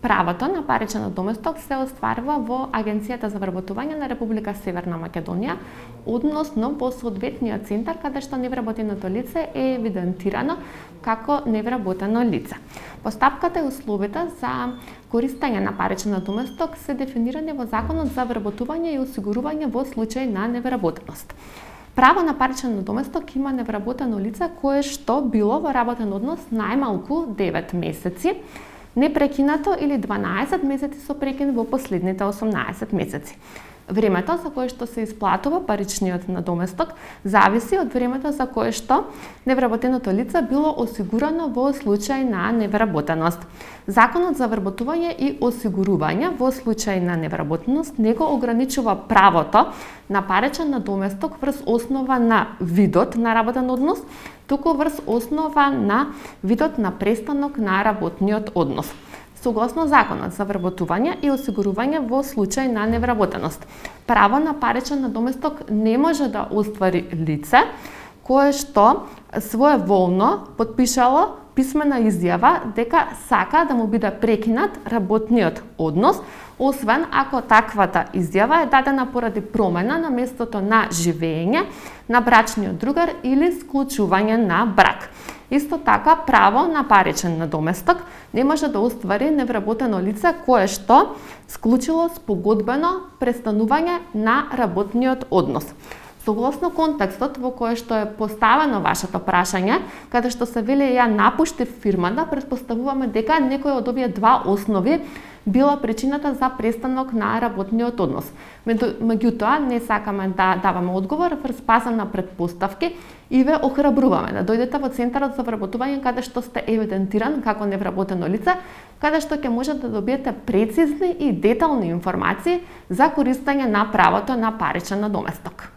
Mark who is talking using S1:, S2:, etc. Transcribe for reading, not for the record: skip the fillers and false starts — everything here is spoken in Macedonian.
S1: Правото на паричен надоместок се остварува во Агенцијата за вработување на Република Северна Македонија, односно во соодветниот центар каде што невработеното лице е евидентирано како невработено лице. Постапката и условите за користење на паричен надоместок се дефинирани во Законот за вработување и осигурување во случај на невработеност. Право на паричен надоместок има невработено лице кое што било во работен однос најмалку 9 месеци, непрекинато или 12 месеци со прекин во последните 18 месеци. Времето за кое што се исплатува паричниот надоместок зависи од времето за кое што невработеното лице било осигурано во случај на невработеност. Законот за вработување и осигурување во случај на невработеност не го ограничува правото на паричен надоместок врз основа на видот на работен однос, туку врз основа на видот на престанок на работниот однос. Согласно Законот за вработување и осигурување во случај на невработеност, право на паричен надоместок не може да оствари лице кое што своеволно потпишало писмена изјава дека сака да му биде прекинат работниот однос, освен ако таквата изјава е дадена поради промена на местото на живење на брачниот другар или склучување на брак. Исто така, право на паричен надоместок не може да оствари невработено лице кое што склучило спогодбено престанување на работниот однос. Согласно контекстот во кој што е поставено вашето прашање, каде што се вели ја напуштив фирмата, претпоставуваме дека некој од овие два основи била причината за престанок на работниот однос. Меѓутоа, не сакаме да даваме одговор врз база на претпоставки и ве охрабруваме да дојдете во Центарот за вработување каде што сте евидентиран како невработено лице, каде што ќе можете да добиете прецизни и детални информации за користење на правото на паричен надоместок.